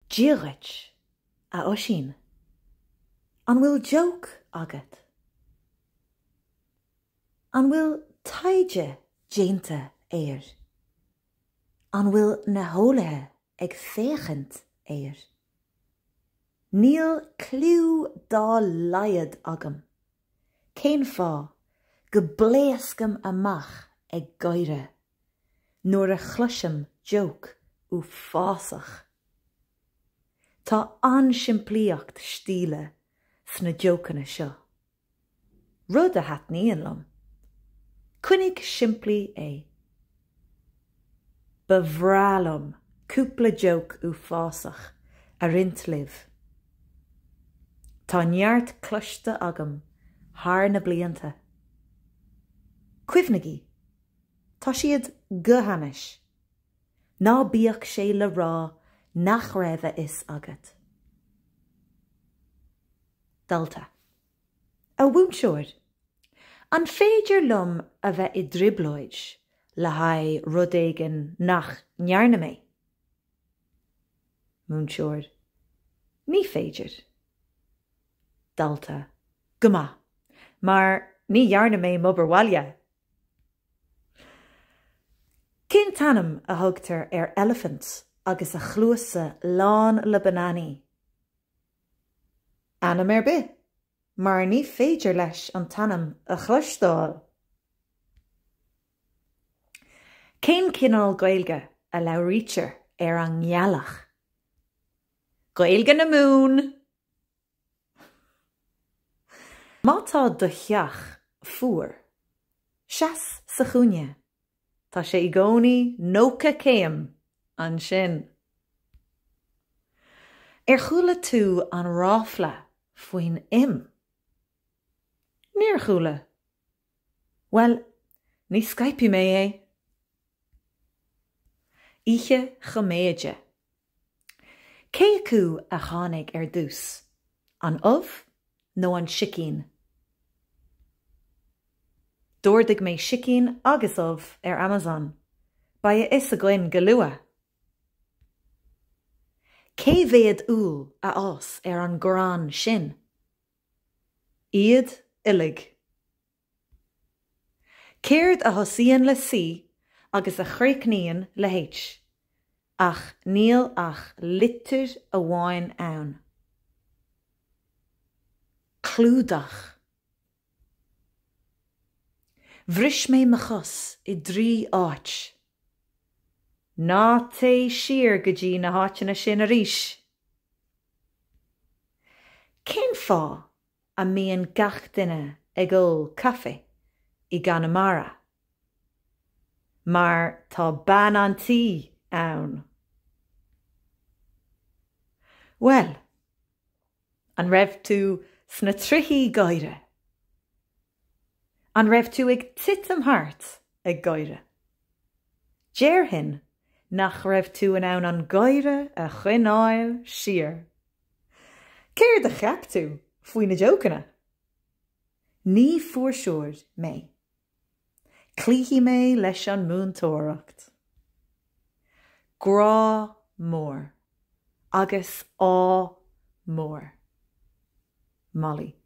Dia dhuit, a Oisín. An bhfuil joke agat? An bhfuil taighde déanta air? An bhfuil na heolaithe ag féachaint air? Níl cliú dá laghad agam cén fáth go bpléascaim amach ag gáire nuair a chloisim joke uafásach. Tá an-simplíocht stíle sna jócanna seo. Rud a thaitníonn liom. Coinnigh simplí é. Ba bhreá liom cúpla joke uafásach a roinnt libh. Tá neart cloiste agam thar na blianta. Cuimhnigí, tá siad go hainnis. Ná bíodh sé le rá nach raibh a fhios agat. Dalta. A mhúinteoir, an féidir liom a bheith i dtrioblóid le haghaidh rud éigin nach ndearna mé? Múinteoir, Ní féidir. Dalta, Go maith, mar ní dhearna mé m'obair bhaile! Cén t-ainm a thugtar ar eilifint agus a chluasa lán le bananaí? Ainm ar bith, mar ní féidir leis an t-ainm a chloisteáil! Cén cineál Gaeilge a labhraítear ar an ngealach? Gaeilge na Mumhan! Má tá do theach fuar, seas sa chúinne, tá sé i gcónaí 90 céim ansin. Ar chuala tú an ráfla faoin im? Níor chuala. Bhuel, ní scaipfidh mé é! Oíche Choiméide. Cé acu a tháinig ar dtús, an ubh nó an sicín? D'ordaigh mé sicín agus ubh ar Amazon. Beidh a fhios againn go luath! Cé mhéad úll a fhás ar an gcrann sin? Iad uilig. Céard a thosaíonn le C agus a chríochnaíonn le H, ach níl ach litir amháin ann? Clúdach. Bhris mé mo chos i dtrí áit. Ná téigh siar go dtí na háiteanna sin arís! Cén fáth a mbíonn gach duine ag ól caife i gConamara? Mar tá bean an tí ann. Bhuel, an raibh tú sna trithí gáire? An raibh tú ag titim thart ag gáire? Déarfainn nach raibh tú in ann an gáire a choinneáil siar. Céard a cheap tú faoi na jócanna? Ní fuirseoir mé. Cloífidh mé leis an múinteoireacht. Grá mór agus ádh mór. Molly.